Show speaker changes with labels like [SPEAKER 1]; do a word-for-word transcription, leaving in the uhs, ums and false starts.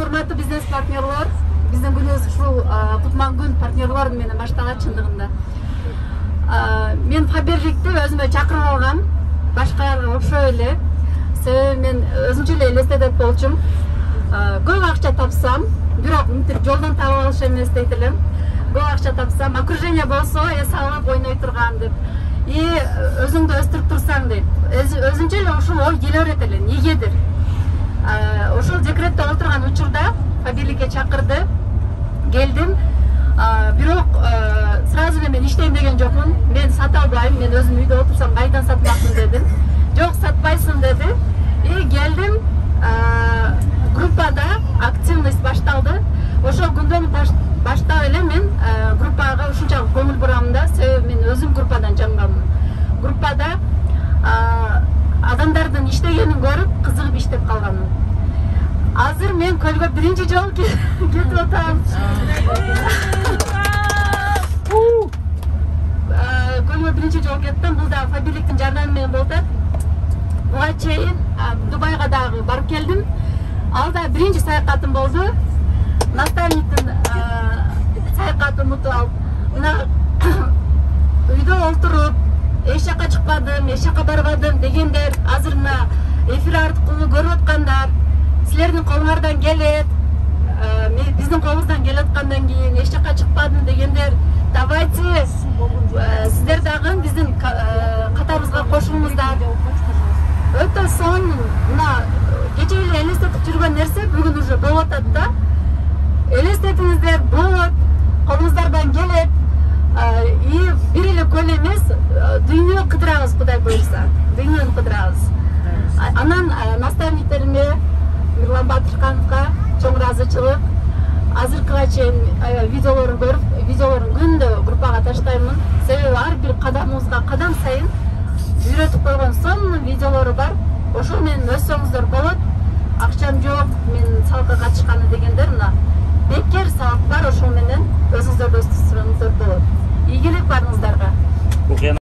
[SPEAKER 1] урматтуу бизнес партнерлор, биздин күнүбүз ушул кутман күн партнерлор менен башталат чындыгында. Мен Фаберликти өзүмө чакырып алгам, башкаларга окшой эле. Себеби мен өзүнчө эле элестетет болчумун. Көп акча тапсам, бирок мынтип жолдон таап алыш эмес дейт элем. Көп акча тапсам, окружение болсо, эс алып ойной турган деп. И өзүңдү өстүрүп турсаң дейт. Өзүнчө эле ушул ой келе берет эле. Негедир? Ошол декретте отурган учурда Фаберликке чакырды, келдим. Бирок сразу эле мен иштейм деген жокмун. Мен сата албайм, мен өзүм үйдө отурсам кайдан сатмакмын дедим. Жок, сатпайсың деди. И келдим, группада активность башталды. Ошол күндөн баштап эле мен группага ушунчалык көңүл бурам да, себеби мен өзүм группадан жангаммын. Группада адамдардын иштегенин көрүп, кызыгып иштеп калганмын. Азыр мен көлгө биринчи жолу кетип атам. Көлгө биринчи жолу кеттим. Бул да Фаберликтин жардамы менен болуп атат. Буга чейин Дубайга дагы барып келдим. Ал да биринчи саякатым болду. Наставниктин саякатын унутуп алып, мына үйдө олтуруп, эч жака чыкпадым, эч жака барбадым дегендер, азыр мына эфир аркылуу көрүп аткандар, силердин колуңардан келет, биздин колубуздан келе аткандан кийин эч жака чыкпадым дегендер, давайте сиздер дагы биздин катарыбызга кошулуңуздар. Өтө сонун, мына кече эле элестетип жүргөн нерсе бүгүн уже болуп атат да. Элестетиңиздер, болот, колуңуздардан келет. И бир эле көл эмес, дүйнө кыдырабыз, Кудай буйрса. Дүйнөнү кыдырабыз. Анан наставниктериме, Мирлан Батырхановго чоң ыраазычылык. Азыркыга чейин видеолорун көрүп, видеолорун күндө группага таштаймын. Себеби ар бир кадамыбызга кадам сайын үйрөтүп койгон сонун видеолору бар. Ошол менен өссөңүздөр болот. Акчам жок, мен салыкка катышканы дегендер мына бекер салык бар, ошол менен өзүңүздөрдү өстүрсөңүздөр болот. Ийгилик барыңыздарга.